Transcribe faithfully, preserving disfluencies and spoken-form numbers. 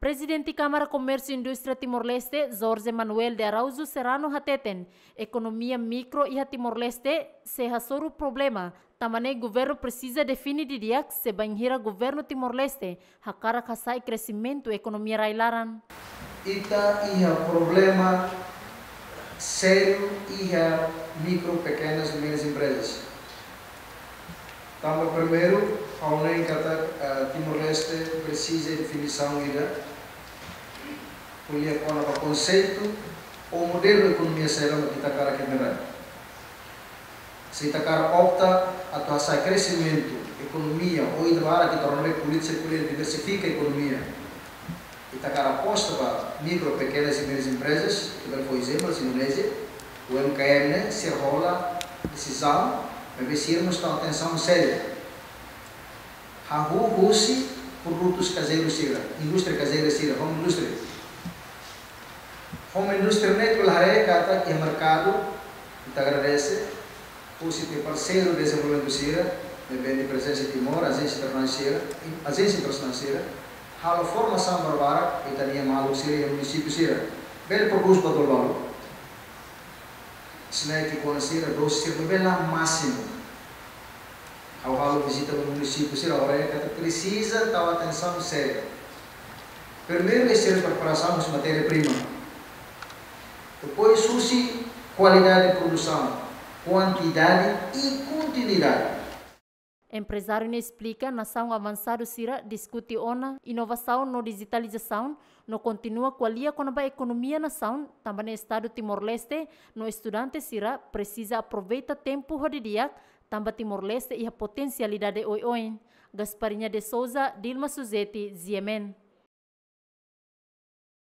Prezidente Kámara Komérsiu Indústria Timor-Leste, Jorge Manuel de Araújo Serrano hateten, ekonomia mikro iha Timor-Leste sei hasoru problema, tanba ne'e governu presiza define didi'ak se bainhira governu Timor-Leste hakarak hasa'e kresimentu ekonomia rai-laran. Ita iha problema sériu iha mikro, pekenas e médias empresas. Tanba primeiru, ha'u hanoin katak, eh, Timor-Leste presiza definisaun ida, ko'alia kona-ba konseitu ou modelu ekonomia saida mak ita hakarak ita-nia rai. Se ita hakarak opta atu hasa'e kresimentu ekonomia, ou ida barak ita rona be polítika, polítika diversifika ekonomia. Ita hakarak aposta ba mikro, pekenas e médias empresas, ita bele fó ezemplu, Indonézia, U M K M ne'e, sira hola desizaun, maibé sira mós tau atensaun sériu. Hahú husi produtus kazeiru sira, indústria kazeira sira, home industry. Home industry ne'e ita bele haree katak iha merkadu, ita agradese, husi ita-nia parseiru dezenvolvimentu sira, ne'ebé iha prezensa Timor, ajénsia internasionál sira, ajénsia internasionál sira, halo formasaun barbarak ba ita-nia maluk sira iha munisípiu sira. Bele prodús buat balu-balu. Snack kona sira, dose sira, maibé la másimu. Ha'u halo vizita ba munisípiu sira, ha'u haree katak presiza tau atensaun sériu. Primeiru, iha sira preparasaun husi matéria prima. Depois, husi kualidade produsaun, kuantidade i kontinuidade. Emprezáriu ne'e esplika, nasaun avansadu sira diskute ona inovasaun no dijitalizasaun, no kontinua ko'alia kona-ba ekonomia nasaun, tanba ne'e Estadu Timor-Leste no estudante sira presiza aproveita tempu ho didi'ak, tanba Timor-Leste iha potensialidade oioin. Gasparinha de Souza, Dilma Suzeti, G M N.